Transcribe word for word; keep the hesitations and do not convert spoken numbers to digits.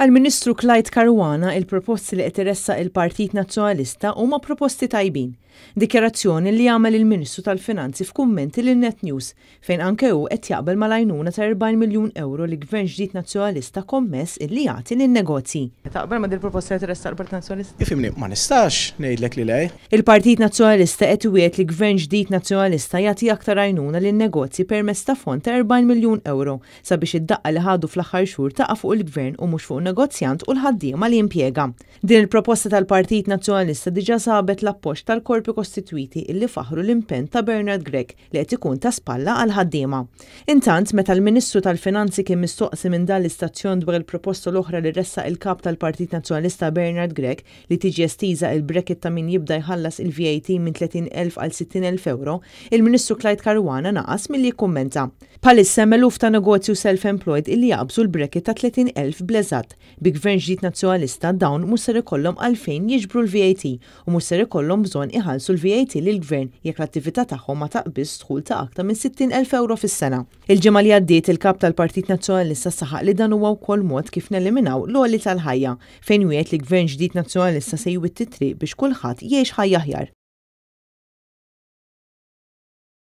Għall-Ministru Clyde Caruana, il-proposti li qed iressaq il-Partit Nazzjonalista huma proposti tajbin. Dikjarazzjoni li għamel il-Ministru tal-Finanzi f'kummenti lil Net News, fejn anke hu qed jaqbel mal-għajnuna ta' erbgħin miljun euro li Gvern ġdid Nazzjonalista kommess illi jagħti lin-negozji. Taqbel ma' dil-proposta li tressaq il-Partit Nazzjonalista? Ifhimni, ma nistax ngħidlek li le. Il-Partit Nazzjonalista qed iwiegħed li Gvern ġdid Nazzjonalista jagħti aktar għajnuna lin-negozji permezz ta' fond ta' erbgħin miljun euro sabiex id-daqqa li ħadu fl-aħħar xhur taqa' fuq il-Gvern u mhux fuq negozjant u l-ħaddiema li jimpjega. Din il-proposta tal-Partit Nazzjonalista diġà sabet l-appoġġ tal-korpi kostitwiti illi faħru l-impenn ta' Bernard Grech li qed ikun ta' spalla għal ħaddiema. Intant, meta l-Ministru tal-Finanzi kien mistoqsi minn dan l-istazzjon dwar il-proposta l-oħra li ressaq il-kap tal-Partit Nazzjonalista Bernard Grech li tiġi estiża il-bracket ta' min jibda jħallas il-V A T minn tletin elf għal sittin elf euro, il-Ministru Clyde Caruana naqas milli jikkummenta. Bħalissa hemm eluf ta' negozju self-employed illi jaqbżu l-bracket ta' tletin elf bl-eżatt. Bi Gvern ġdid Nazzjonalista dawn mhux ser ikollhom għalfejn jiġbru l-V A T u mhux ser ikollhom bżonn iħallsu l-V A T lill-Gvern jekk l-attività tagħhom ma taqbiż dħul ta' aktar minn sittin elf euro fis-sena. Il-ġimgħa li għaddiet il-kap tal-Partit Nazzjonalista saħaq li dan huwa wkoll mod kif neliminaw l-għoli tal-ħajja, fejn wiegħed li Gvern ġdid Nazzjonalista se jwitti triq biex kulħadd jgħix ħajja aħjar.